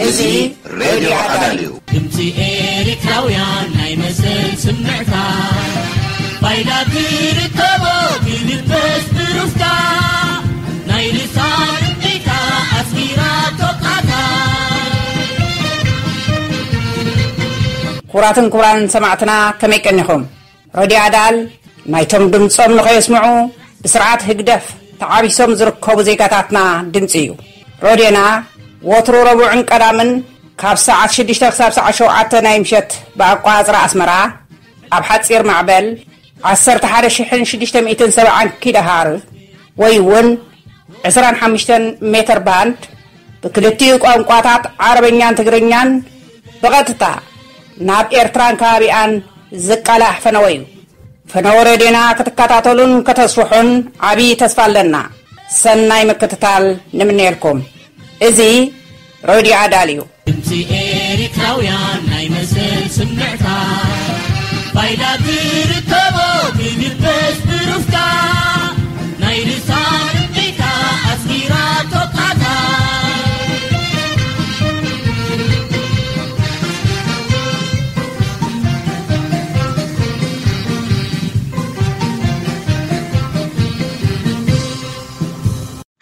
እዚ ሬድዮ ኣዳል እዩ። ድምፂ ኤርትራውያን ናይ መሰል ስምዕታ፣ ባይዳ ትርከቦ ብልበስ ብሩፍታ፣ ናይ ልሳን እምቢታ ኣስጊራ ቶቃታ። ክቡራትን ክቡራንን ሰማዕትና፣ ከመይ ቀኒኹም? ረድዮ ኣዳል ናይቶም ድምጾም ንኸየስምዑ ብስርዓት ህግደፍ ተዓቢሶም ዝርከቡ ዜጋታትና ድምጺ እዩ። ረድዮና ወትሩ ረቡዕን ቀዳምን ካብ ሰዓት ሽዱሽተ ክሳብ ሰዓት ሸውዓተ ናይ ምሸት ብኣቋጽራ ኣስመራ ኣብ ሓጺር ማዕበል ዓሰርተ ሓደ ሽሕን ሽዱሽተ ሚእትን ሰብዓን ኪሎ ሃርዝ ወይ እውን ዕስራን ሓሙሽተን ሜተር ባንድ ብክልቲኡ ቋንቋታት ዓረበኛን ትግርኛን ብቐጥታ ናብ ኤርትራን ከባቢኣን ዝቃላሕ ፈነወ እዩ። ፈነወ ሬድዮና ክትከታተሉን ከተስፍሑን ዓብዪ ተስፋ ኣለና። ሰናይ ምክትታል ንምነየልኩም። እዚ ሬድዮ ኣዳል እዩ። ድምፂ ኤርትራውያን ናይ መሰል ስምዕታ፣ ባይዳ ትርከቦ ብልበስ ብሩፍታ፣ ናይ ልሳን እምቢታ ኣስጊራ ቶቃታ።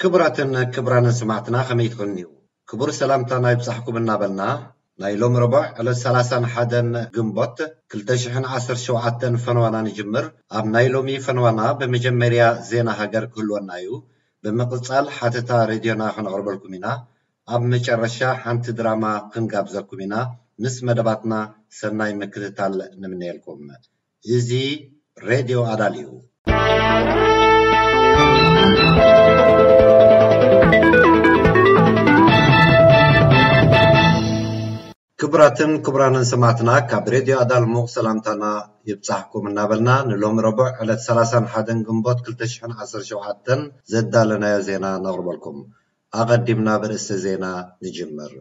ክቡራትን ክቡራንን ሰማዕትና፣ ከመይ ትኾንዩ? ክቡር ሰላምታና ይብጻሕኩም እናበልና፣ ናይ ሎም ረቡዕ ዕለት ሰላሳን ሓደን ግንቦት ክልተ ሽሕን ዓሰርተ ሸውዓተን ፈነዋና ንጅምር። ኣብ ናይ ሎሚ ፈነዋና ብመጀመርያ ዜና ሃገር ክህልወና እዩ። ብምቕጻል ሓተታ ሬድዮና ክነቕርበልኩም ኢና። ኣብ መጨረሻ ሓንቲ ድራማ ክንጋብዘኩም ኢና። ምስ መደባትና ሰናይ ምክትታል ንምነየልኩም። እዚ ሬድዮ ኣዳል እዩ። ክቡራትን ክቡራንን ሰማዕትና፣ ካብ ሬድዮ ኣዳል ሙቕ ሰላምታና ይብጻሕኩም እናበልና፣ ንሎሚ ረቡዕ ዕለት ሰላሳን ሓደን ግንቦት ክልተ ሽሕን ዓሰርተ ሸውዓተን ዘዳለናዮ ዜና ነቕርበልኩም። ኣቐዲምና ብርእሲ ዜና ንጅምር።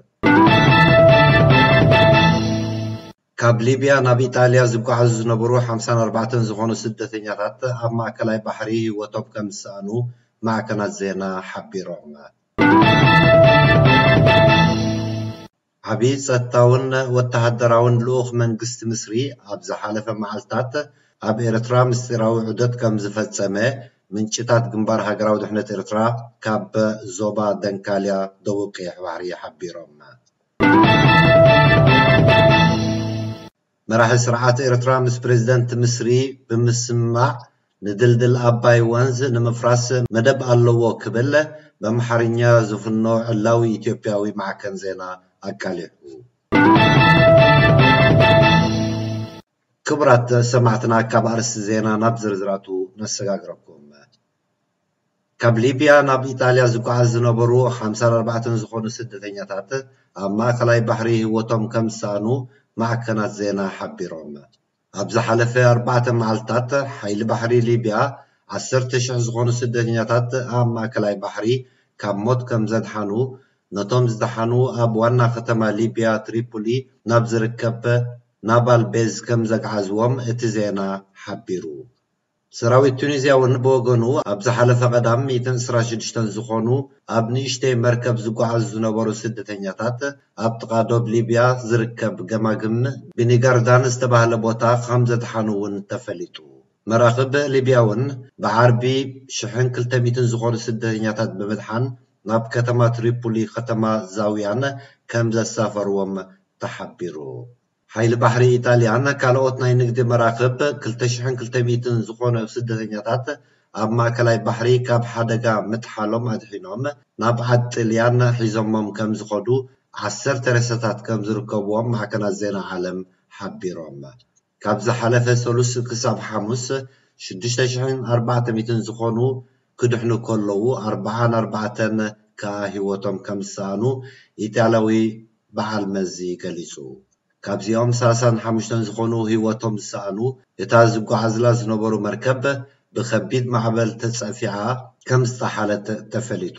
ካብ ሊብያ ናብ ኢጣልያ ዝጓዓዙ ዝነበሩ ሓምሳን ኣርባዕተን ዝኾኑ ስደተኛታት ኣብ ማእከላይ ባሕሪ ህይወቶም ከም ዝሰኣኑ ማዕከናት ዜና ሓቢሮም። ዓቢ ጸጥታውን ወተሃደራውን ልኡኽ መንግስቲ ምስሪ ኣብ ዝሓለፈ መዓልታት ኣብ ኤርትራ ምስጢራዊ ዑደት ከም ዝፈጸመ ምንጭታት ግንባር ሃገራዊ ድሕነት ኤርትራ ካብ ዞባ ደንካልያ ደቡብ ቀይሕ ባሕሪ ሓቢሮም። መራሒ ስርዓት ኤርትራ ምስ ፕሬዝደንት ምስሪ ብምስምማዕ ንድልድል ኣባይ ወንዝ ንምፍራስ መደብ ኣለዎ ክብል በምሓርኛ ዝፍኖ ዕላዊ ኢትዮጵያዊ ማዕከን ዜና ኣቃሊሑ። ክቡራት ሰማዕትና፣ ካብ ኣርእስቲ ዜና ናብ ዝርዝራቱ ነሰጋግረኩም። ካብ ሊብያ ናብ ኢጣልያ ዝጓዓዝ ዝነበሩ ሓምሳን ኣርባዕተን ዝኾኑ ስደተኛታት ኣብ ማእከላይ ባሕሪ ህይወቶም ከም ዝሰኣኑ ማዕከናት ዜና ሓቢሮም። ኣብ ዝሓለፈ ኣርባዕተ መዓልታት ሓይሊ ባሕሪ ሊብያ ዓሰርተ ሽሕ ዝኾኑ ስደተኛታት ኣብ ማእከላይ ባሕሪ ካብ ሞት ከም ዘድሓኑ፣ ነቶም ዝደሓኑ ኣብ ዋና ከተማ ሊብያ ትሪፖሊ ናብ ዝርከብ ናቫል ቤዝ ከም ዘግዓዝዎም እቲ ዜና ሓቢሩ። ሰራዊት ቱኒዝያ እውን ብወገኑ ኣብ ዝሓለፈ ቀዳም ሚእትን ዕስራን ሽዱሽተን ዝኾኑ ኣብ ንእሽተይ መርከብ ዝጓዓዙ ዝነበሩ ስደተኛታት ኣብ ጥቓ ዶብ ሊብያ ዝርከብ ገማግም ብኒጋርዳን ዝተባህለ ቦታ ከም ዘድሓኑ እውን ተፈሊጡ። መራኽብ ሊብያ እውን ብዓርቢ ሽሕን ክልተ ሚእትን ዝኾኑ ስደተኛታት ብምድሓን ናብ ከተማ ትሪፖሊ ከተማ ዛውያን ከም ዘሳፈርዎም ተሓቢሩ። ሓይሊ ባሕሪ ኢጣልያን ካልኦት ናይ ንግዲ መራኽብ ክልተ ሽሕን ክልተ ሚእትን ዝኾኑ ስደተኛታት ኣብ ማእከላይ ባሕሪ ካብ ሓደጋ ምጥሓሎም ኣድሒኖም ናብ ዓዲ ጥልያን ሒዞሞም ከም ዝኸዱ ዓሰርተ ሬሳታት ከም ዝርከብዎም ማዕከናት ዜና ዓለም ሓቢሮም። ካብ ዝሓለፈ ሰሉስ ክሳብ ሓሙስ ሽዱሽተ ሽሕን ኣርባዕተ ሚእትን ዝኾኑ ክድሕኑ ከለዉ፣ ኣርብዓን ኣርባዕተን ከኣ ህይወቶም ከም ዝሰኣኑ ኢጣልያዊ በዓል መዚ ገሊጹ። ካብዚኦም ሰላሳን ሓሙሽተን ዝኾኑ ህይወቶም ዝሰኣኑ፣ እታ ዝጓዓዝላ ዝነበሩ መርከብ ብኸቢድ ማዕበል ተጸፊዓ ከም ዝጠሓለት ተፈሊጡ።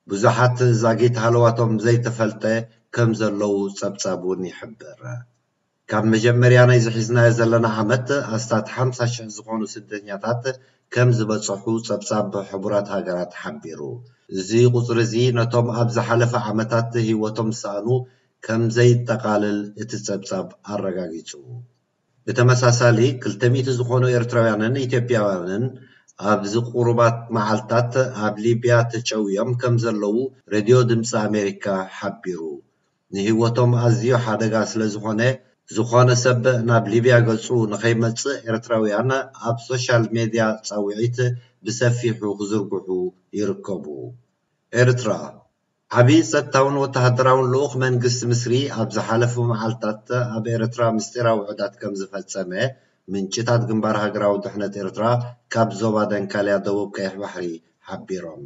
ብዙሓት ዛጊት ሃለዋቶም ዘይተፈልጠ ከም ዘለዉ ጸብጻብ እውን ይሕብር። ካብ መጀመርያ ናይዚ ሒዝናዮ ዘለና ዓመት ኣስታት ሓምሳ ሽሕ ዝኾኑ ስደተኛታት ከም ዝበጽሑ ጸብጻብ ሕቡራት ሃገራት ሓቢሩ። እዚ ቁጽሪ እዚ ነቶም ኣብ ዝሓለፈ ዓመታት ህይወቶም ዝሰኣኑ ከም ዘየጠቓልል እቲ ጸብጻብ ኣረጋጊጹ። ብተመሳሳሊ፣ ክልተ ሚእቲ ዝኾኑ ኤርትራውያንን ኢትዮጵያውያንን ኣብዚ ቁሩባት መዓልታት ኣብ ሊብያ ተጨውዮም ከም ዘለዉ ሬድዮ ድምፂ ኣሜሪካ ሓቢሩ። ንህይወቶም ኣዝዩ ሓደጋ ስለ ዝኾነ፣ ዝኾነ ሰብ ናብ ሊብያ ገጹ ንኸይመጽእ ኤርትራውያን ኣብ ሶሻል ሜድያ ጻውዒት ብሰፊሑ ክዝርግሑ ይርከቡ። ኤርትራ፣ ዓቢ ጸጥታውን ወተሃደራውን ልኡኽ መንግስቲ ምስሪ ኣብ ዝሓለፉ መዓልታት ኣብ ኤርትራ ምስጢራዊ ውሑዳት ከም ዝፈጸመ ምንጭታት ግንባር ሃገራዊ ድሕነት ኤርትራ ካብ ዞባ ደንካልያ ደቡብ ቀይሕ ባሕሪ ሓቢሮም።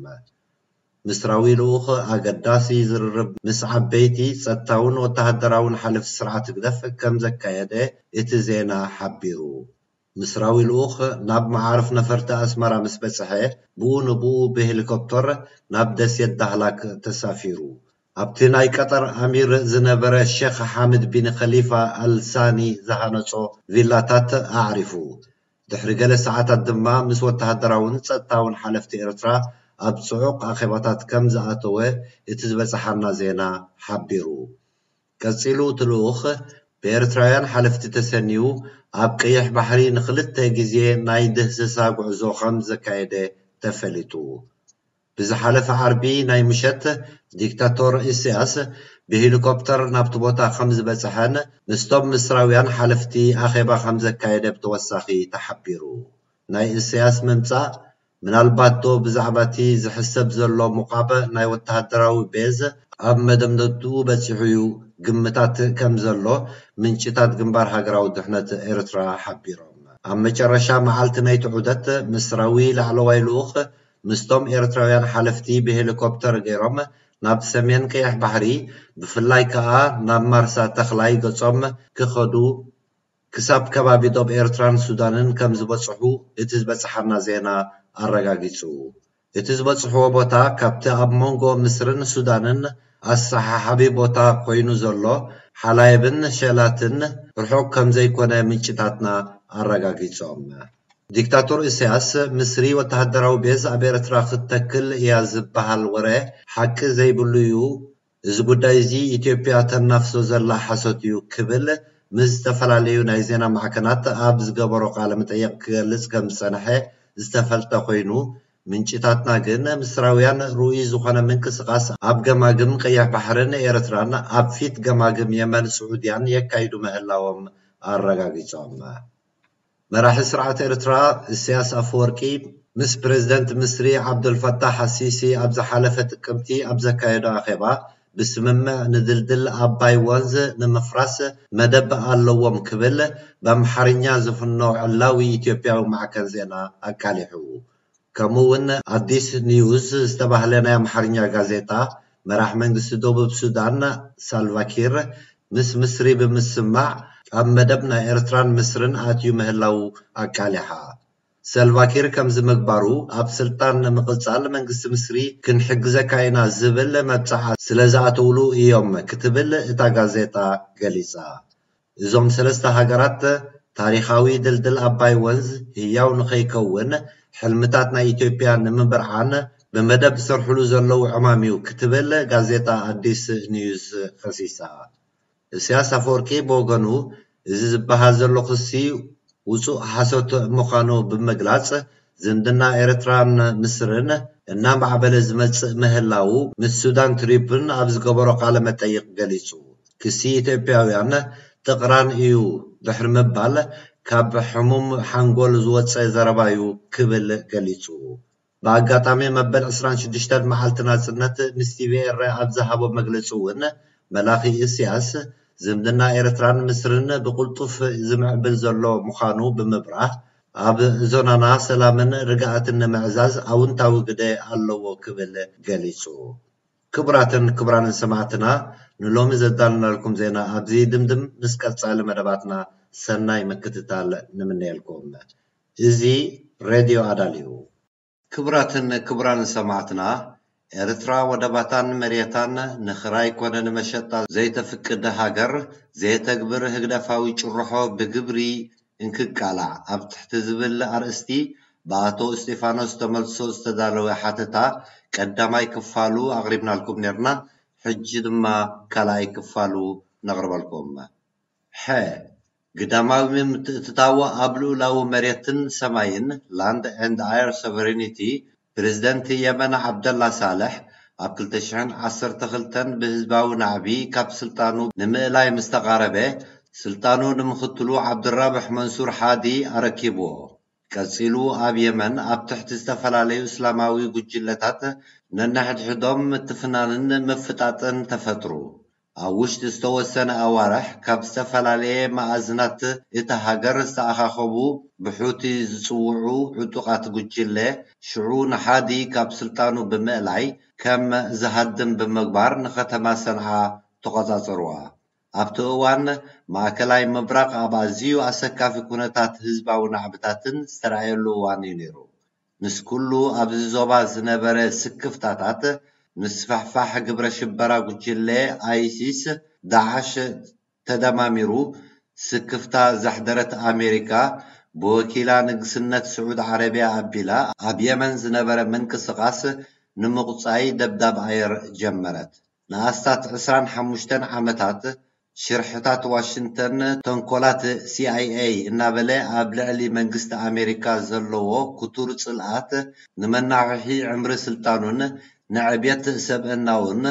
ምስራዊ ልኡኽ ኣገዳሲ ዝርርብ ምስ ዓበይቲ ጸጥታውን ወተሃደራውን ሓለፍቲ ስርዓት ህግደፍ ከም ዘካየደ እቲ ዜና ሓቢሩ። ምስራዊ ልኡኽ ናብ መዓርፍ ነፈርቲ ኣስመራ ምስ በጽሐ፣ ብኡ ንብኡ ብሄሊኮፕተር ናብ ደሴት ዳህላክ ተሳፊሩ። ኣብቲ ናይ ቀጠር ኣሚር ዝነበረ ሼኽ ሓምድ ቢን ኸሊፋ ኣልሳኒ ዝሃነጾ ቪላታት ኣዕሪፉ። ድሕሪ ገለ ሰዓታት ድማ ምስ ወተሃደራውን ጸጥታውን ሓለፍቲ ኤርትራ ኣብ ጽዑቕ ኣኼባታት ከም ዝኣተወ እቲ ዝበጽሓና ዜና ሓቢሩ። ቀጺሉ እቲ ልኡኽ ብኤርትራውያን ሓለፍቲ ተሰንዩ ኣብ ቀይሕ ባሕሪ ንኽልተ ግዜ ናይ ድህስሳ ጉዕዞ ከም ዘካየደ ተፈሊጡ። ብዝሓለፈ ዓርቢ ናይ ምሸት ዲክታቶር ኢሳያስ ብሄሊኮፕተር ናብቲ ቦታ ከም ዝበጽሐን ምስቶም ምስራውያን ሓለፍቲ ኣኼባ ከም ዘካየደ ብተወሳኺ ተሓቢሩ። ናይ ኢሳያስ ምምጻእ ምናልባት ዶ ብዛዕባ እቲ ዝሕሰብ ዘሎ ምቋብ ናይ ወተሃደራዊ ቤዝ ኣብ መደምደምትኡ በጺሑ እዩ ግምታት ከም ዘሎ ምንጭታት ግንባር ሃገራዊ ድሕነት ኤርትራ ሓቢሮም። ኣብ መጨረሻ መዓልቲ ናይቲ ዑደት ምስራዊ ላዕለዋይ ልኡኽ ምስቶም ኤርትራውያን ሓለፍቲ ብሄሊኮፕተር ገይሮም ናብ ሰሜን ቀይሕ ባሕሪ ብፍላይ ከኣ ናብ ማርሳ ተኽላይ ገጾም ክኸዱ ክሳብ ከባቢ ዶብ ኤርትራን ሱዳንን ከም ዝበጽሑ እቲ ዝበጽሓና ዜና ኣረጋጊጹ። እቲ ዝበጽሕዎ ቦታ ካብቲ ኣብ መንጎ ምስርን ሱዳንን ኣሰሓሓቢ ቦታ ኮይኑ ዘሎ ሓላይብን ሸላትን ርሑቕ ከም ዘይኮነ ምንጭታትና ኣረጋጊጾም። ዲክታቶር ኢሳያስ፣ ምስሪ ወተሃደራዊ ቤዝ ኣብ ኤርትራ ክትተክል እያ ዝበሃል ወረ ሓቂ ዘይብሉ እዩ። እዚ ጉዳይ እዚ ኢትዮጵያ ተናፍሶ ዘላ ሓሶት እዩ ክብል ምስ ዝተፈላለዩ ናይ ዜና ማዕከናት ኣብ ዝገበሮ ቃለ መጠይቕ ክገልጽ ከም ዝጸንሐ ዝተፈልጠ ኮይኑ፣ ምንጭታትና ግን ምስራውያን ርኡይ ዝኾነ ምንቅስቓስ ኣብ ገማግም ቀይሕ ባሕርን ኤርትራን ኣብ ፊት ገማግም የመን ስዑድያን የካይዱ ምህላዎም ኣረጋጊጾም። መራሒ ስርዓት ኤርትራ ኢሳያስ ኣፈወርቂ ምስ ፕሬዝደንት ምስሪ ዓብደልፈታሕ ኣሲሲ ኣብ ዝሓለፈ ጥቅምቲ ኣብ ዘካየዶ ኣኼባ፣ ብስምምዕ ንድልድል ኣባይ ወንዝ ንምፍራስ መደብ ኣለዎም ክብል ብኣምሓርኛ ዝፍኖ ዕላዊ ኢትዮጵያዊ ማዕከን ዜና ኣቃሊሑ። ከምኡ እውን ኣዲስ ኒውስ ዝተባህለ ናይ ኣምሓርኛ ጋዜጣ፣ መራሕ መንግስቲ ደቡብ ሱዳን ሳልቫኪር ምስ ምስሪ ብምስማዕ ኣብ መደብ ናይ ኤርትራን ምስርን ኣትዩ ምህላው ኣቃሊሓ። ሰልቫኪር ከምዚ ምግባሩ ኣብ ስልጣን ንምቕጻል መንግስቲ ምስሪ ክንሕግዘካ ኢና ዝብል መብጽዓ ስለ ዝኣተውሉ እዮም ክትብል እታ ጋዜጣ ገሊጻ። እዞም ሰለስተ ሃገራት ታሪኻዊ ድልድል ኣባይ ወንዝ ህያው ንኸይከውን ሕልምታት ናይ ኢትዮጵያ ንምብርዓን ብመደብ ዝሰርሕሉ ዘለዉ ዕማም እዩ ክትብል ጋዜጣ ኣዲስ ኒውስ ከሲሳ። ኢሳያስ ኣፈወርቂ ብወገኑ፣ እዚ ዝበሃል ዘሎ ክሲ ውጹእ ሓሶት ምዃኑ ብምግላጽ፣ ዝምድና ኤርትራን ምስርን እናማዕበለ ዝመጽእ ምህላዉ ምስ ሱዳን ትሪቡን ኣብ ዝገበሮ ቃለ መጠይቕ ገሊጹ። ክሲ ኢትዮጵያውያን ጥቕራን እዩ ድሕሪ ምባል፣ ካብ ሕሙም ሓንጎል ዝወጸ ዘረባ እዩ ክብል ገሊጹ። ብኣጋጣሚ መበል ዕስራን ሽዱሽተን መዓልቲ ናጽነት ምስ ቲቪኤረ ኣብ ዝሃቦ መግለጺ እውን፣ መላኺ ኢሳያስ ዝምድና ኤርትራን ምስርን ብቕልጡፍ ዝምዕብል ዘሎ ምዃኑ ብምብራህ፣ ኣብ ዞናና ሰላምን ርግኣትን ንምዕዛዝ ኣውንታዊ ግደ ኣለዎ ክብል ገሊጹ። ክቡራትን ክቡራንን ሰማዕትና፣ ንሎሚ ዘዳለናልኩም ዜና ኣብዚ ድምድም። ምስ ቀጻሊ መደባትና ሰናይ ምክትታል ንምነየልኩም። እዚ ሬድዮ ኣዳል እዩ። ክቡራትን ክቡራንን ሰማዕትና፣ ኤርትራ ወደባታን መሬታን ንኽራይ ኮነ ንመሸጣ ዘይተፍቅድ ሃገር፣ ዘየተግብር ህግደፋዊ ጭርሖ ብግብሪ እንክቃላዕ ኣብ ትሕቲ ዝብል ኣርእስቲ ብኣቶ እስጢፋኖስ ተመልሶ ዝተዳለወ ሓተታ ቀዳማይ ክፋሉ ኣቕሪብናልኩም ነርና። ሕጂ ድማ ካልኣይ ክፋሉ ነቕርበልኩም። ሐ፣ ግዳማዊ ምትእትታው ኣብ ልኡላዊ መሬትን ሰማይን፣ Land and Air Sovereignty፣ ፕሬዝደንት የመን ዓብደላ ሳልሕ ኣብ ክልተ ሽሕን ዓሰርተ ክልተን ብህዝባዊ ናዕቢ ካብ ስልጣኑ ንምእላይ ምስ ተቓረበ፣ ስልጣኑ ንምኽትሉ ዓብድራብሕ መንሱር ሓዲ ኣረኪብዎ። ቀጺሉ ኣብ የመን ኣብ ትሕቲ ዝተፈላለዩ እስላማዊ ጉጅለታት ነንሕድሕዶም ምትፍናንን ምፍጣጥን ተፈጥሩ። ኣብ ውሽጢ ዝተወሰነ ኣዋርሕ ካብ ዝተፈላለየ መኣዝናት እታ ሃገር ዝተኣኻኸቡ ብሑቲ ዝጽውዑ ዕጡቓት ጉጅለ ሽዑ ንሓዲ ካብ ስልጣኑ ብምእላይ ከም ዝሃድም ብምግባር ንከተማ ሰንዓ ተቖጻጸርዋ። ኣብቲ እዋን ማእከላይ ምብራቕ ኣብ ኣዝዩ ኣሰካፊ ኩነታት ህዝባዊ ናዕብታትን ዝተራእየሉ እዋን እዩ ነይሩ። ምስ ኩሉ ኣብዚ ዞባ ዝነበረ ስክፍታታት፣ ምስፍሕፋሕ ግብረ ሽበራ ጉጅለ ኣይሲስ፣ ዳዕሽ ተደማሚሩ፣ ስክፍታ ዘሕደረት ኣሜሪካ፣ ብወኪላ ንግስነት ስዑድ ዓረብያ ኣቢላ ኣብ የመን ዝነበረ ምንቅስቓስ ንምቑጻይ ደብዳብ ኣየር ጀመረት። ንኣስታት ዕስራን ሓሙሽተን ዓመታት ሽርሕታት ዋሽንግተን፣ ተንኮላት ሲ ኣይ ኤ እናበለ ኣብ ልዕሊ መንግስቲ ኣሜሪካ ዘለዎ ክቱር ጽልኣት ንመናውሒ ዕምሪ ስልጣኑን ንዕብየት ሰብእናውን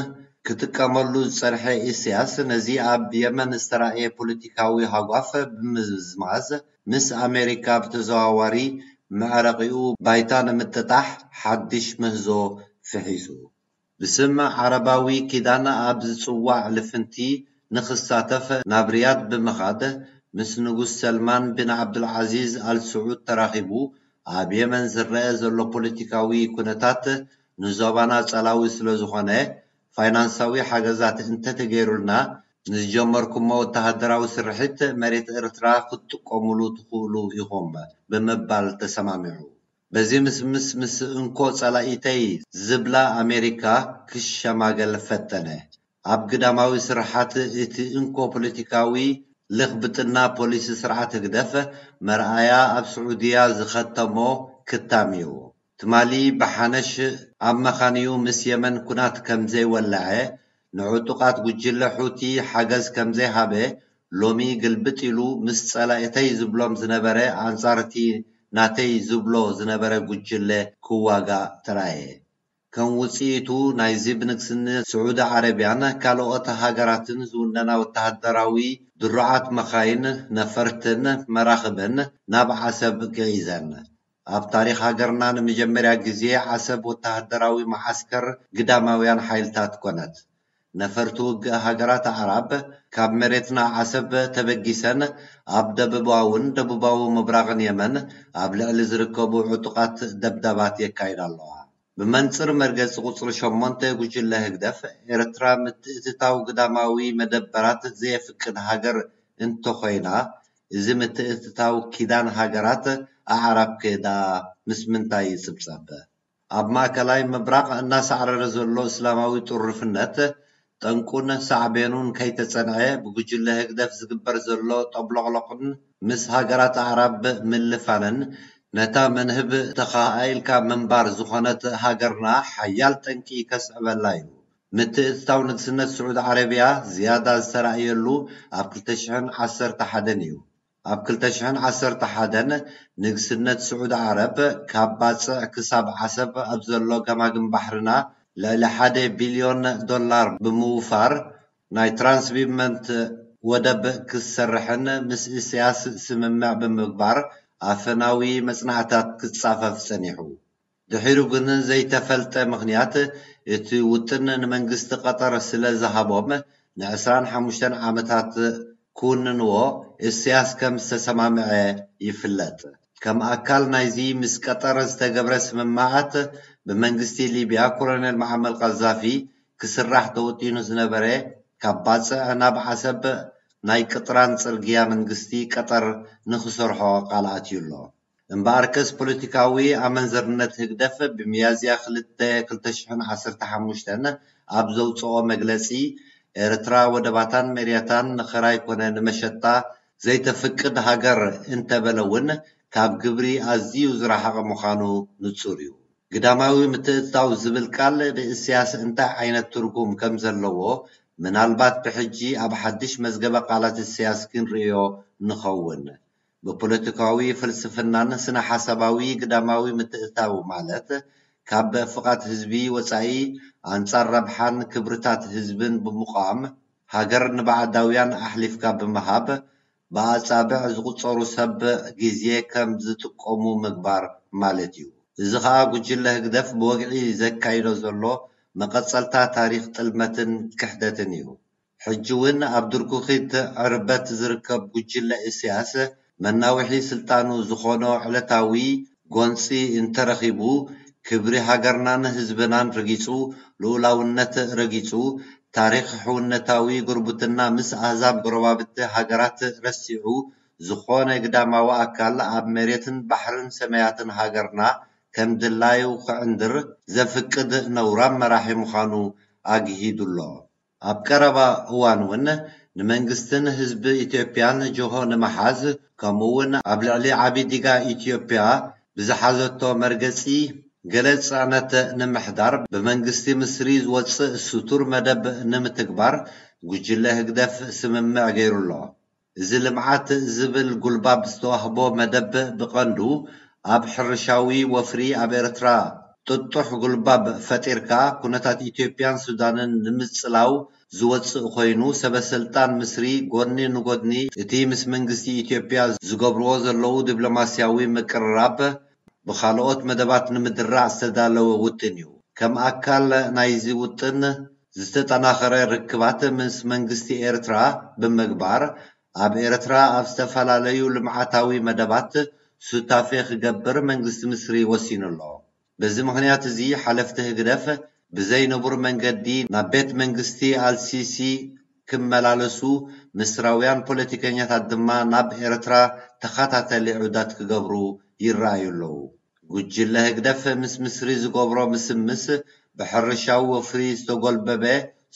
ክጥቀመሉ ዝጸንሐ ኢሳያስ፣ ነዚ ኣብ የመን ዝተራእየ ፖለቲካዊ ሃጓፍ ብምምዝማዝ፣ ምስ ኣሜሪካ ብተዘዋዋሪ መዕረቒኡ ባይታ ንምጥጣሕ ሓድሽ ምህዞ ፍሒሱ። ብስም ዓረባዊ ኪዳን ኣብ ዝጽዋዕ ልፍንቲ ንኽሳተፍ ናብ ሪያድ ብምኻድ፣ ምስ ንጉስ ሰልማን ቢን ዓብዱልዓዚዝ ኣል ስዑድ ተራኺቡ፣ ኣብ የመን ዝረአ ዘሎ ፖለቲካዊ ኩነታት ንዞባና ጸላዊ ስለ ዝኾነ፣ ፋይናንሳዊ ሓገዛት እንተተገይሩልና፣ ንዝጀመርኩሞ ወተሃደራዊ ስርሒት መሬት ኤርትራ ክትጥቀሙሉ ትኽእሉ ኢኹም ብምባል ተሰማሚዑ። በዚ ምስምስ ምስ እንኮ ጸላኢተይ ዝብላ ኣሜሪካ ክሸማገል ፈተነ። ኣብ ግዳማዊ ስርሓት እቲ እንኮ ፖለቲካዊ ልኽብጥና ፖሊሲ ስርዓት ህግደፍ መርኣያ ኣብ ስዑድያ ዝኸተሞ ክታም እዩ። ትማሊ ብሓነሽ ኣብ መኻንዩ ምስ የመን ኩናት ከም ዘይወለዐ፣ ንዕጡቓት ጉጅለ ሑቲ ሓገዝ ከም ዘይሃበ፣ ሎሚ ግልብጥ ኢሉ ምስ ጸላእተይ ዝብሎም ዝነበረ ኣንጻር እቲ ናተይ ዝብሎ ዝነበረ ጉጅለ ክዋጋእ ተራእየ። ከም ውጽኢቱ ናይዚ ብንግስነት ስዑዲ ዓረብያን ካልኦት ሃገራትን ዝውነና ወተሃደራዊ ድሩዓት መኻይን፣ ነፈርትን መራኽብን ናብ ዓሰብ ገዒዘን። ኣብ ታሪኽ ሃገርና ንመጀመርያ ግዜ ዓሰብ ወተሃደራዊ መዓስከር ግዳማውያን ሓይልታት ኮነት። ነፈርቲ ውግእ ሃገራት ኣዕራብ ካብ መሬትና ዓሰብ ተበጊሰን ኣብ ደቡባውን ደቡባዊ ምብራቕን የመን ኣብ ልዕሊ ዝርከቡ ዕጡቓት ደብዳባት የካይዳ ኣለዋ። ብመንጽር መርገጺ ቁጽሪ ሸሞንተ ጉጅለ ህግደፍ፣ ኤርትራ ምትእትታው ግዳማዊ መደበራት ዘየፍቅድ ሃገር እንተኾይና፣ እዚ ምትእትታው ኪዳን ሃገራት ኣዕራብ ከ ደኣ ምስ ምንታይ ይጽብጸብ? ኣብ ማእከላይ ምብራቕ እናሳዕረረ ዘሎ እስላማዊ ጥሩፍነት፣ ጠንቁን ሳዕቤኑን ከይተጸንዐ፣ ብጉጅለ ህግደፍ ዝግበር ዘሎ ጠብሎቕሎቕን ምስ ሃገራት ኣዕራብ ምልፋንን፣ ነታ መንህብ ተኻኢልካ ምንባር ዝኾነት ሃገርና ሓያል ጠንቂ ከስዕበላ እዩ። ምትእትታው ንግስነት ስዑድ ዓረብያ ዝያዳ ዝተራእየሉ ኣብ ክልተ ሽሕን ዓሰርተ ሓደን እዩ። ኣብ ክልተ ሽሕን ዓሰርተ ሓደን ንግስነት ስዑድ ዓረብ ካብ ባጽዕ ክሳብ ዓሰብ ኣብ ዘሎ ገማግም ባሕርና ልዕሊ ሓደ ቢልዮን ዶላር ብምውፋር ናይ ትራንስሺፕመንት ወደብ ክትሰርሕን ምስ ኢሳያስ ስምምዕ ብምግባር ኣፈናዊ መጽናዕታት ክጻፈፍ ጸኒሑ። ድሒሩ ግን ዘይተፈልጠ ምኽንያት እቲ ውጥን ንመንግስቲ ቀጠር ስለ ዝሃቦም ንዕስራን ሓሙሽተን ዓመታት ክውንንዎ ኢሳያስ ከም ዝተሰማምዐ ይፍለጥ። ከም ኣካል ናይዚ ምስ ቀጠር ዝተገብረ ስምምዓት ብመንግስቲ ሊብያ ኮሎኔል መዓመር ቀዛፊ ክስራሕ ተወጢኑ ዝነበረ ካብ ባጽዕ ናብ ዓሰብ ናይ ቅጥራን ጽርግያ መንግስቲ ቀጠር ንኽሰርሖ ቃል ኣትዩ ኣሎ። እምበኣርከስ ፖለቲካዊ ኣመንዘርነት ህግደፍ ብሚያዝያ ክልተ ክልተ ሽሕን ዓሰርተ ሓሙሽተን ኣብ ዘውጽኦ መግለጺ፣ ኤርትራ ወደባታን መሬታን ንኸራይ ኮነ ንመሸጣ ዘይተፍቅድ ሃገር እንተበለ እውን ካብ ግብሪ ኣዝዩ ዝረሓቐ ምዃኑ ንጹር እዩ። ግዳማዊ ምትእትታው ዝብል ቃል ብእስያስ እንታይ ዓይነት ትርጉም ከም ዘለዎ፣ ምናልባት ብሕጂ ኣብ ሓድሽ መዝገበ ቃላት እስያስ ክንርእዮ ንኸውን። ብፖለቲካዊ ፍልስፍናን ስነ-ሓሳባዊ ግዳማዊ ምትእትታው ማለት፣ ካብ ፍቓድ ህዝቢ ወጻኢ ኣንጻር ረብሓን ክብርታት ህዝብን ብምቋም፣ ሃገር ንባዕዳውያን ኣሕሊፍካ ብምሃብ፣ ብኣጻብዕ ዝቑጸሩ ሰብ ግዜ ከም ዝጥቀሙ ምግባር ማለት እዩ። እዚ ኸኣ ጉጅለ ህግደፍ ብወግዒ ዘካይዶ ዘሎ መቐጸልታ ታሪኽ ጥልመትን ክሕደትን እዩ። ሕጂ እውን ኣብ ድርኩኺት ዕርበት ዝርከብ ጉጅለ ኢሳያስ መናውሒ ስልጣኑ ዝኾኖ ዕለታዊ ጎንጺ እንተረኺቡ፣ ክብሪ ሃገርናን ህዝብናን ረጊጹ፣ ልኡላውነት ረጊጹ፣ ታሪኽ ሕውነታዊ ጉርብትና ምስ ኣህዛብ ጎረባብቲ ሃገራት ረሲዑ፣ ዝኾነ ግዳማዊ ኣካል ኣብ መሬትን ባሕርን ሰማያትን ሃገርና ከም ድላዩ ክዕንድር ዘፍቅድ ነውራም መራሒ ምዃኑ ኣግሂዱ ኣሎ። ኣብ ቀረባ እዋን እውን ንመንግስትን ህዝቢ ኢትዮጵያን ጅሆ ንምሓዝ፣ ከምኡ እውን ኣብ ልዕሊ ዓቢ ዲጋ ኢትዮጵያ ብዝሓዘቶ መርገጺ ገለ ጽዕነት ንምሕዳር ብመንግስቲ ምስሪ ዝወጽእ ስቱር መደብ ንምትግባር ጉጅለ ህግደፍ ስምምዕ ገይሩ ኣሎ። እዚ ልምዓት ዝብል ጉልባብ ዝተዋህቦ መደብ ብቐንዱ ኣብ ሕርሻዊ ወፍሪ ኣብ ኤርትራ ጥጡሕ ጉልባብ ፈጢርካ ኩነታት ኢትዮጵያን ሱዳንን ንምጽላው ዝወጽእ ኮይኑ፣ ሰበ-ስልጣን ምስሪ ጎድኒ ንጎድኒ እቲ ምስ መንግስቲ ኢትዮጵያ ዝገብርዎ ዘለዉ ዲፕሎማስያዊ ምቅርራብ ብኻልኦት መደባት ንምድራዕ ዝተዳለወ ውጥን እዩ። ከም ኣካል ናይዚ ውጥን፣ ዝተጠናኸረ ርክባት ምስ መንግስቲ ኤርትራ ብምግባር፣ ኣብ ኤርትራ ኣብ ዝተፈላለዩ ልምዓታዊ መደባት ሱታፌ ክገብር መንግስቲ ምስሪ ወሲኑ ኣሎ። በዚ ምኽንያት እዚ፣ ሓለፍቲ ህግደፍ ብዘይ ንቡር መንገዲ ናብ ቤት መንግስቲ ኣልሲሲ ክመላለሱ፣ ምስራውያን ፖለቲከኛታት ድማ ናብ ኤርትራ ተኸታታሊ ዑደት ክገብሩ ይረኣዩ ኣለዉ። ጉጅለ ህግደፍ ምስ ምስሪ ዝገብሮ ምስምስ፣ ብሕርሻዊ ወፍሪ ዝተጎልበበ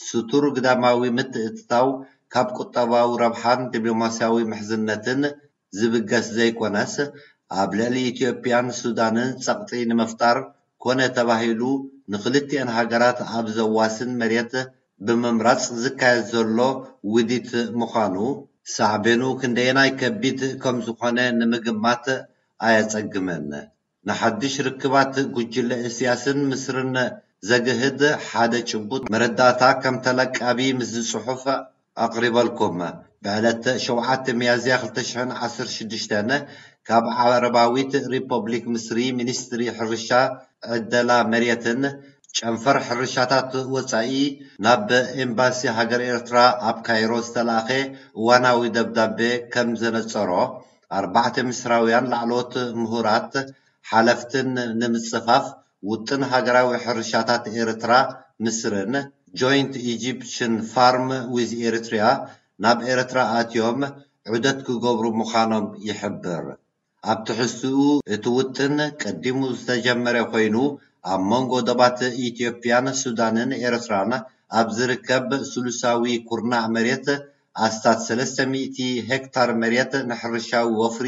ስቱር ግዳማዊ ምትእትታው፣ ካብ ቁጠባዊ ረብሓን ዲፕሎማስያዊ ምሕዝነትን ዝብገስ ዘይኮነስ፣ ኣብ ልዕሊ ኢትዮጵያን ሱዳንን ጸቕጢ ንምፍጣር ኮነ ተባሂሉ ንኽልቲኤን ሃገራት ኣብ ዘዋስን መሬት ብምምራጽ ዝካየድ ዘሎ ውዲት ምዃኑ፣ ሳዕቤኑ ክንደየናይ ከቢድ ከም ዝኾነ ንምግማት ኣየጸግምን። ንሓድሽ ርክባት ጉጅለ ኢሳያስን ምስርን ዘግህድ ሓደ ጭቡጥ መረዳእታ ከም ተለቃቢ ምስዚ ጽሑፍ ኣቕሪበልኩም። ብዕለት ሸውዓተ ሚያዝያ ክልተ ሽሕን ዓሰርተ ሽዱሽተን ካብ ዓረባዊት ሪፐብሊክ ምስሪ ሚኒስትሪ ሕርሻ፣ ዕደላ መሬትን ጨንፈር ሕርሻታት ወጻኢ ናብ ኤምባሲ ሃገር ኤርትራ ኣብ ካይሮ ዝተላእኸ እዋናዊ ደብዳቤ ከም ዘነጸሮ፣ ኣርባዕተ ምስራውያን ላዕለዎት ምሁራት ሓለፍትን ንምጽፋፍ ውጥን ሃገራዊ ሕርሻታት ኤርትራ ምስርን፣ ጆይንት ኢጂፕሽን ፋርም ዊዝ ኤሪትሪያ፣ ናብ ኤርትራ ኣትዮም ዑደት ክገብሩ ምዃኖም ይሕብር። ኣብ ትሕዝትኡ፣ እቲ ውጥን ቀዲሙ ዝተጀመረ ኮይኑ፣ ኣብ መንጎ ዶባት ኢትዮጵያን ሱዳንን ኤርትራን ኣብ ዝርከብ ስሉሳዊ ኩርናዕ መሬት ኣስታት ሰለስተ ሚእቲ ሄክታር መሬት ንሕርሻዊ ወፍሪ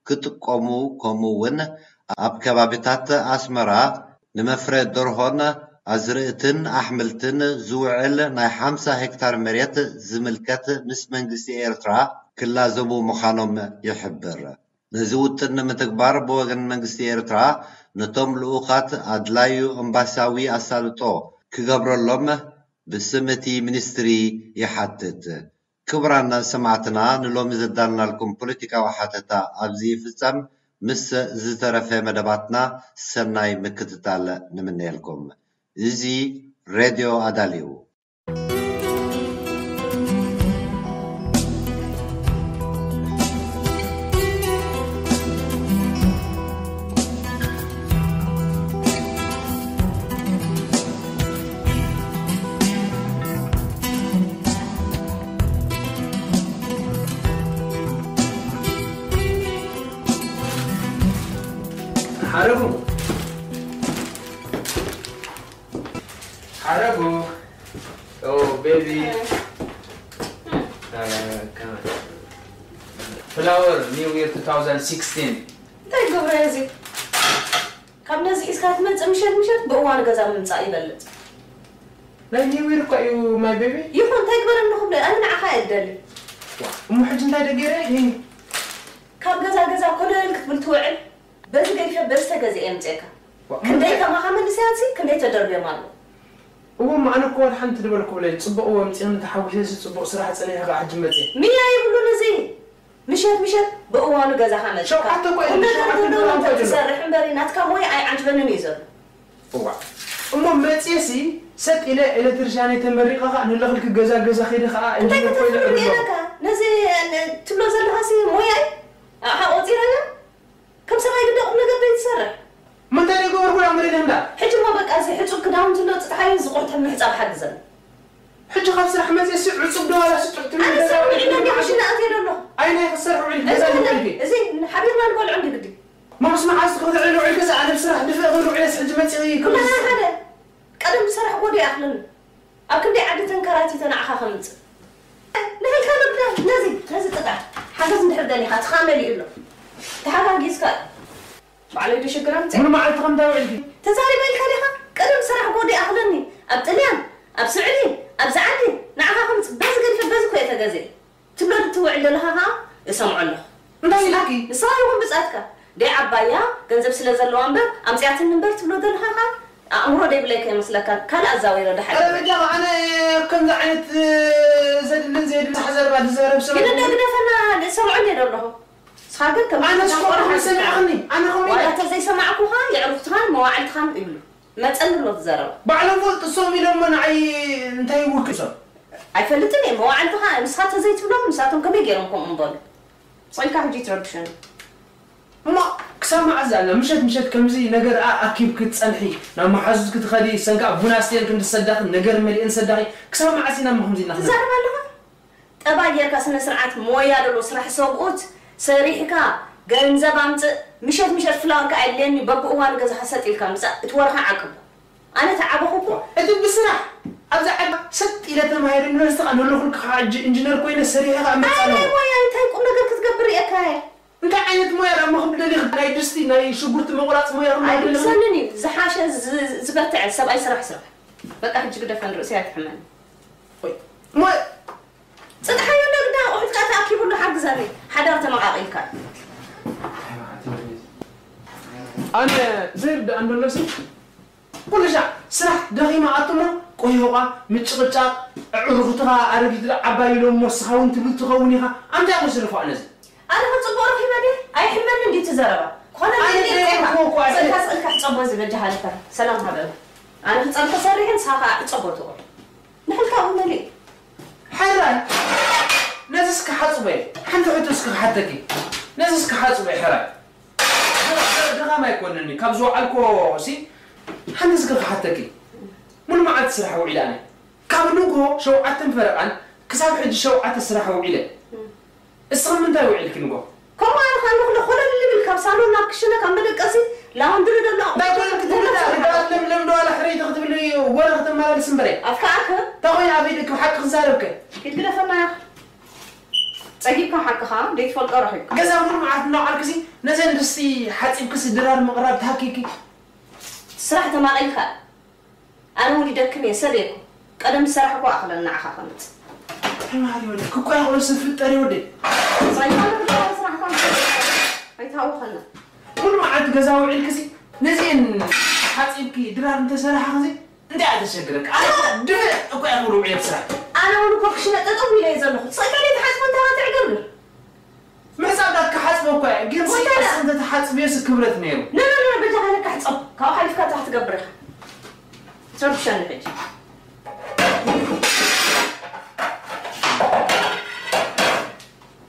ክጥቀሙ፣ ከምኡ እውን ኣብ ከባቢታት ኣስመራ ንመፍረ ደርሆን ኣዝርእትን ኣሕምልትን ዝውዕል ናይ ሓምሳ ሄክታር መሬት ዝምልከት ምስ መንግስቲ ኤርትራ ክላዘቡ ምዃኖም ይሕብር። ነዚ ውጥን ንምትግባር ብወገን መንግስቲ ኤርትራ ነቶም ልኡኻት ኣድላዩ ኤምባሲያዊ ኣሳልጦ ክገብረሎም ብስም እቲ ሚኒስትሪ ይሓትት። ክቡራን ሰማዕትና፣ ንሎሚ ዘዳልናልኩም ፖለቲካዊ ሓተታ ኣብዚ ይፍጸም። ምስ ዝተረፈ መደባትና ሰናይ ምክትታል ንምነየልኩም። እዚ ሬድዮ ኣዳልዩ። ሓረጉ፣ ሓረጉ። Oh, baby. Uh, come on. Flower, New Year two thousand sixteen. እንታይ ክብረ እዚ ካብ ነዚ ሒዝካ ትመጽእ ምሸት ምሸት ብእዋኑ ገዛ ምምጻእ ይበልጽ። ናይ ኒው ይር እኳ እዩ ማይ ቤቢ። ይኹን እንታይ ግበረኒ ክብለ ኣነ ንዓኻ እየ እደሊ። እሞ ሕጂ እንታይ ደገረ? ካብ ገዛ ገዛ ኮለል ክትብል ትውዕል በዚ ገዲፈ በዚ ተገዚአ የምፅኤካ። ክንደይ ከማኻ መንእሰያትሲ ክንደይ ተደርብዮም ኣለዉ። እዎ እሞ ኣነ እኮ ወላ ሓንቲ ድበልኩ ብለይ። ፅቡቕ እዎ ኣምፂእኒ ተሓጒሰ ሲ ፅቡቕ ስራሕ ፀኒሐ ከዓ ሕጂ መፅየ። ምያ የብሉን እዚ። ምሸት ምሸት ብእዋኑ ገዛኻ መፂእካ ሸውዓተ እኮ እየ ቁምነገር ሸውዓተ ዘለዎ ድራም ነገር ኮይኑ። ትሰርሕ እምበሪ ናትካ ሞያ ኣይዓጅበንን እዩ ዘሎ። እዋ እሞ መፅየ ሲ ሰጥ ኢለ ኤሌክትሪሻን እየ ተመሪቐ ከዓ ንለኽልኪ ገዛ ገዛ ከይደ ከዓ እንታይ ኢንጂነር ኮይነ ከተፍርር እዕብሎ። ኢለካ ነዚ ትብሎ ዘለኻ ሲ ሞያ እዩ ኣቕሓ ቆፂረዮ ከም ሰብኣይ ግዳ ቁም ነገር ዘይትሰርሕ። ምንታይ ደይ ገበርኩ ዳ መሬት እንዳ። ሕጂ እሞ በቃ እዚ ሕጹብ ክዳውንቲ ኣሎ ጽጥሓዩ ዝቆርተ ምሕጻብ ሓግዘኒ። ሕጂ ካብ ስራሕ መጽየ ሲ ዕጹብ ዶ ዋላ ሲ ጥሕቲ ኣነ ሰብ ውዒለ እንዲ ክሽነ ኣትየ ዶ ኣለኹ። ኣይ ናይ ክሰርሕ ውዒል ገዛ እዚ ውዒል ዲ። እዚ ሓቢርና ንበልዖ እንዲ ግዲ። ማ ምስ መዓዝ ትኽትዕል ውዒል ገዛ ኣነ ብስራሕ ድፍእ ክብል ውዒለስ ሕጂ መጽየ ክብል። ኩላና ሓደ ቀደም ዝሰራሕክዎ ዶ ይኣኽለኒ። ኣብ ክንደይ ዓዲ ተንከራቲተ ንዓኻ ከምጽእ ንህልካ ነብዳ ነዚ ነዚ ጥጣ ሓገዝ እንድሕር ደሊኻ ትኻ መሊኡ ኣሎ ተሓጋጊዝካ እዩ ባዕለይ ዶ ሽግር ኣምጽእ ሙሉ መዓልቲ ከምታ ውዕልኪ ተዛሪበ ኢልካ ዲኻ ቀደም ሰራሕ ጎዲ ኣኽለኒ ኣብ ጥልያን ኣብ ስዕዲ ኣብዚ ዓዲ ንዓኻ ከምጽእ በዚ ገዲፈ በዚ ኮ እየ ተገዚአ ትብሎ ትውዕል ዘለኻ ኸኣ እሰምዖ ኣለኹ። እንታይ ኢልኪ? ንስኻ ይኹን ብጻትካ ደይ ዓባያ ገንዘብ ስለ ዘለዋ እምበር ኣምጺኣትኒ እምበር ትብሎ ዘለኻ ኸኣ ኣእምሮ ደይብለይ ከይመስለካ ካልእ ኣዛዊረ ደሓር። ኧረ በጃኻ ኣነ ከምዚ ዓይነት ዘድልን ዘየድልን ሳሕ ዘረባ ዝዛረብ ሰብ ግን እንደ ኣይኮንኩን። ግደፈና እሰምዖ እንድየ ዶ ኣለኹ። ንስኻ ግን ከም ኣነስ ከምኡ ከምኡ ሰሚዕኽኒ ኣነ ከምኡ ዋላ ኢለ። ተዘይሰማዕኩኻ የዕሩኽትኻን መዋዕልትኻን ይብሉ። መጸኒ ኣሎ እቲ ዘረባ። ባዕሎም ፈልጡ እሶም ኢሎሞ ንዓይ እንታይ ይውክል እሶም? ኣይፈልጥን እየ መዋዕልትኻ ንስኻ ተዘይትብሎም ንሳቶም ከመይ ገይሮም ከምኡ ምበሉ? ስቕ ኢልካ ሕጂ ኣይትረብሸኒ። እሞ ክሳብ መዓዝ ኣላ ምሸት ምሸት ከምዚ ነገር ኣኪብኪ ትጸንሒ ናብ መሓዙትኪ ትኸዲ እሰን ከኣ ቡን ኣስትየን ክንዲ ሰዳኺ ነገር መሊኤን ሰዳኺ ክሳብ መዓዝ ኢና እሞ ከምዚ ኢልና ክንነብር? ትዛረብ ኣለኻ? ጠባይ ጌርካ ስነ ስርዓት ሞያ ደሎ ስራሕ ሰብኡት ሰሪሕካ ገንዘብ ኣምፅእ ምሸት ምሸት ፍላወር ከኣ የድልየኒ በብእዋኑ ገዛኻ ሰጥ ኢልካ ምፃእ እቲ ወርኻ ዓቅቦ ኣነ ተዓበኹ እኮ እቲ ብስራሕ ኣብዛ ዓዲ ሰጥ ኢለ ተማሂረ ዩኒቨርሲቲ ከኣ ነለኹልካ ከኣ ሕጂ ኢንጂነር ኮይነ ሰሪሐ ከኣ ምፃእ ኣለኹ ኣይ ሞያ እንታይ ቁም ነገር ክትገብር ሪኤካ እየ እንታይ ዓይነት ሞያ ደኣ መኽብል ደሊኺ ናይ ድስቲ ናይ ሽጉርቲ ምቑራፅ ሞያ ክመሃር ደሊኺ ኣይብሰንን እዩ ዝሓሸ ዝበርትዐ ሰብኣይ ስራሕ ስራሕ በቃ ሕጂ ግደፈን ርእሰይ ኣይትሕመኒ ሞያ ፅጥሓዮ ዶ ግዳ ኣቑሑትካ ተኣኪቡ ኣሎ ሓግዘኒ ሓዳር ተመቓቒልካ ኣነ ዘይርድኣን ዘሎ ሲ ኩሉ ሻዕ ስራሕ ደኺማ ኣቱሞ ቆይሆቓ ምጭቕጫቕ ኣዕሩኽትኻ ኣረጊት ዶ ዓባይ ኢሎሞ ንስኻ እውን ትብል ትኸውን ኢኻ ኣንታይ ኣመሰልኹ ኣነዚ ኣነ ኸ ፅቡቕ ረኺበ ድየ ኣይሕመኒ እንዲ እቲ ዘረባ ኮነ ኣነ ዘይርድኣን ዘይረኽቦ እኮ ኣይሕመኒ። ስእልካ ስእልካ ሕፀቦ ዝበጃ ሃለፈ ሰላም ሃበ ኣነ ክፀብሒ ሰሪሐ ንስኻ ከዓ ዕፀቦ ትቑር ንሕልካ እውን መሊእ ሕራይ ነዚ እስኪ ሓፅቦ እየ ሓንቲ ሕቶ እስኪ ክሓተኪ ነዚ እስኪ ሓፅቦ እየ ሕራይ ድኻም ኣይኮነኒ ካብ ዝወዓልኮ ሲ ሓንቲ እስኪ ክሓተኪ ሙሉ መዓልቲ ስራሕ ውዒለ ኣነ ካብ ንግሆ ሸውዓተን ፈረቓን ክሳብ ሕጂ ሸውዓተ ስራሕ ውዒለ እስኺ ምንታይ ውዒልኪ ንጎ? ከምኡ ኣነ ኸኣ ንኹሎ ኾለል ልብል ካብ ሳሎን ናብ ክሽነ ካብ መደቀሲ ላውንድሪ ደሎ እንታይ ኮይንኪ ትብሊ እታ ርግኣት ለምለም ዶ ዋላ ሕረይቲ ክትብሊ ወረ ከተመላልሲ እምበረ ኣፍካ ኣከ እንታይ ኮይነ ኣብ ኢድኪ ብሓቂ ክዛረብከ ኪድ ግደፈና ያኽ ጸጊብካ ሓቅኻ ደይትፈልጦ ረኺብካ ገዛ ሙሉ መዓልቲ እናውዓልክሲ ነዘን ድስቲ ሓጺብክሲ ድራር ምቕራብ ተሃኪኪ ስራሕ ተማቒልካ ኣነ እውን ይደክም እየ ሰብ እየ እኮ ቀደም ዝሰራሕኩ ኣኽለን ንዓኻ ከምጽእ ተማሃሪ ወደ ክቆያ ክሎ ሰብ ፍጠር ይወደ ሳይንሳዊ ስራሕካ ኣይትሃውኸና ሙሉ መዓልቲ ገዛ ውዒልክሲ ነዚአን ሓፂብኪ ድራር እንተሰራሕኽሲ እንታይ እያ ተሸግረካ ኣነ ድፍእ እኮ እያ ክብሉ ውዒለ ብስራሕ ኣነ እውን እኮ ክሽነ ጠጠው ኢለ እየ ዘለኹ ትፀይካ ዘይትሓፅቦ እንታይ ትዕገብር ምሕጻብ ዳካ ሓጽበ እኳ እየ ግን ሲ እንታይ ደኣ? ኣስንተ ተሓጽብዮ ሲ ክብረት ነይሩ ነነነ በጃኻ ለካ ሕጸብ ካብኡ ሓሊፍካ እንታይ ክትገብር ኢኻ ትረብሸኒ ሕጂ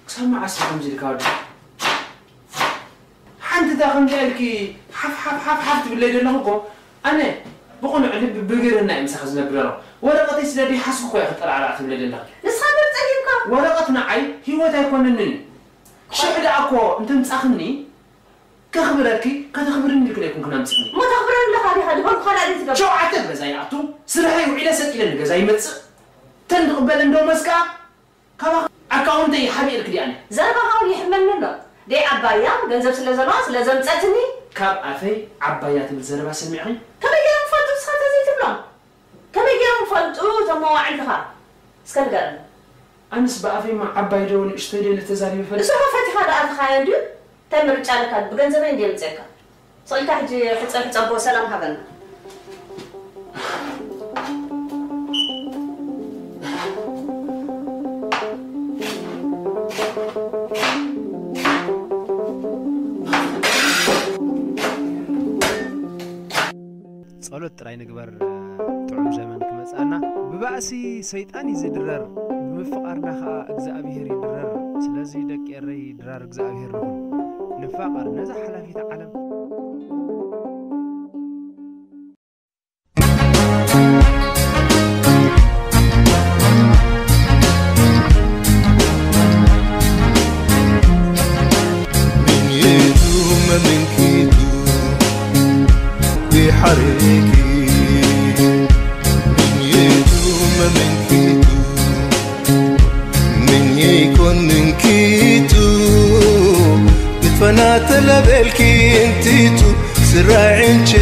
ክሳብ መዓስ ከምዚ ኢልካ ወዲ ሓንቲ እታ ከምዚኣ ኢልኪ ሓፍ ሓፍ ሓፍ ሓፍ ትብለይ ዘለኹ እኮ ኣነ ብቕኑዕ ልቢ ብግርህና እየ ምሳኺ ዝነብር ዘለኹ። ወረቐተይ ስለ ደይሓዝኩ እኮ እየ ክጠላዕላዕ ትብለይ ዘለኺ። ንስኻ ግን ጸጊብካ። ወረቐት ንዓይ ህይወት ኣይኮነንን እዩ። ሽሕ ደኣ እኮ እንተምጻኽኒ ከኽብረኪ ከተኽብርኒ ኢልክን ኣይኮንክን ኣምጺኽኒ። እሞ ተኽብረኒ ኣለኻ ዲኻ? ድበልኩኻ ደኣ ዘይትገብር። ሸውዓተ ኣብ ገዛ ይኣቱ፣ ስርሐይ ውዒለ ሰጥ ኢለ ንገዛ ይመጽእ። ተን ዝቕበል እንዶ መስከኣ ካባኺ ኣካውንተይ ሓቢኤልኪ ድየ ኣነ? ዘረባኻ እውን የሕመኒ ኣሎ። ደይ ዓባያ ገንዘብ ስለ ዘለዋ ስለ ዘምጸትኒ። ካብ ኣፈይ ዓባያ ትብል ዘረባ ሰሚዕኺ? ከመይ ገይሮም ክፈልጡ ንስኻ ተዘይትብሎም? ከመይ ገይሮም ክፈልጡ እቶም መዋዕልትኻ? እስከ ንገረኒ። ኣንስ ብኣፈይማ ዓባይ ዶ ንእሽተይ ዶ ኢለ ተዛሪበ ፈልጥ? እሱ ኸ ፈቲኻ ደኣ ተኻዮ እንድዩ? እንታይ ምርጫ ኣለካ? ብገንዘበይ እንድየ ምጽአካ። ስቕ ኢልካ ሕጂ ሕጸ-፣ ሕጸቦ ሰላም ሃበና። ጸሎት ጥራይ ንግበር፣ ጥዑም ዘመን ክመጽኣና። ብባእሲ ሰይጣን እዩ ዝድረር፣ ብምፍቓርና ኸኣ እግዚኣብሄር ይድረር። ስለዚ ደቂ ኤረይ ድራር እግዚኣብሄር ንኹን፣ ንፋቐር ነዛ ሓላፊት ዓለም። ምንየቱ መመንኪቱ ቢሓሬኪ ምንየቱ መመንኪቱ ምንየይኮን ምንኪቱ ንትፈናተለበልኪ እንቲቱ ስራይ ዕንቼ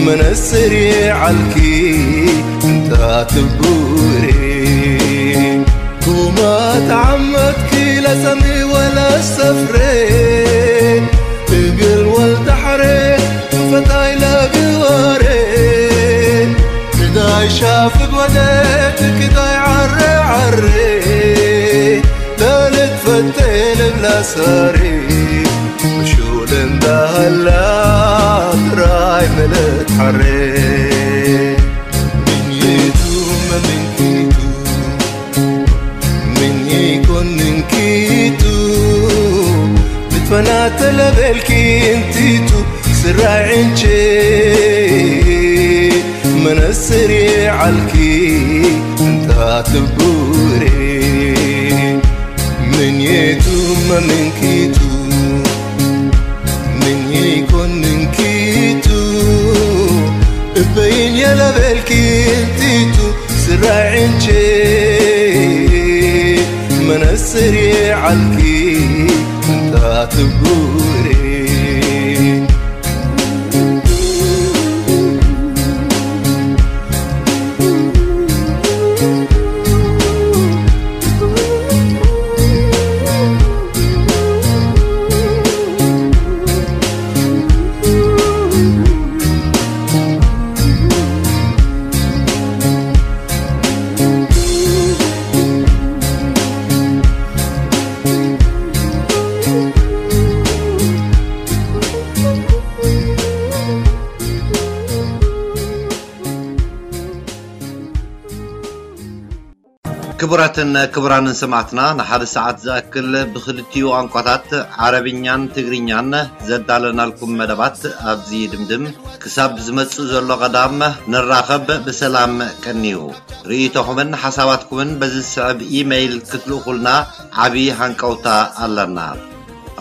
መነጽር የዓልኪ እንታ ትቡሬ ኩማ ተዓመትኪ ለሰሚ ወለ ሰፍሬ እግል ወልተሕሬ ፈታይ ለግባሬ ትዳይ ሻፍግ ወደ ትክዳይ ዓረ ዓሬ ለልትፈቴ ልብላ ሳሬ ብሹል እንዳሃላ ጥራይ መለት ሓሬ ምንየቱ መምንኪቱ ምንየይኮን ምንኪቱ ብትፈናተለበልኪ እንቲቱ ስራይ ዕንቼ መነጽር የዓልኪ እንታ ትቡሬ ምንየቱ መምንኪቱ ምንየይኮን ምንኪቱ እበይን የለበልኪ እንቲቱ ስራይ ዕንቼ መነጽር የዓልኪ እንታ ትቡሬ ክቡራትን ክቡራንን ሰማዕትና፣ ንሓደ ሰዓት ዝኣክል ብኽልቲኡ ቋንቋታት ዓረብኛን ትግርኛን ዘዳለናልኩም መደባት ኣብዚ ይድምድም። ክሳብ ዝመጽእ ዘሎ ቀዳም ንራኸብ፣ ብሰላም ቀንዩ። ርእይቶኹምን ሓሳባትኩምን በዚ ዝስዕብ ኢመይል ክትልእኹልና ዓቢ ሃንቀውታ ኣለና።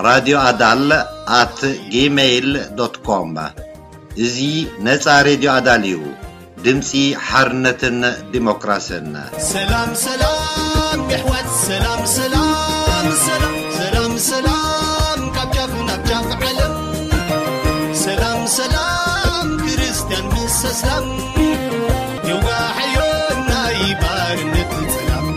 ራድዮ ኣዳል ኣት ጂመይል ዶት ኮም። እዚ ነጻ ሬድዮ ኣዳል እዩ። ድምጺ ሓርነትን ዲሞክራስን። ሰላም ሰላም የሕዋት ሰላም ሰላም ሰላም ሰላም ሰላም ካብ ጫፍ ናብ ጫፍ ዓለም ሰላም ሰላም ክርስትያን ምስ ኣስላም የዋሕዮ ናይ ባርነት ጸላም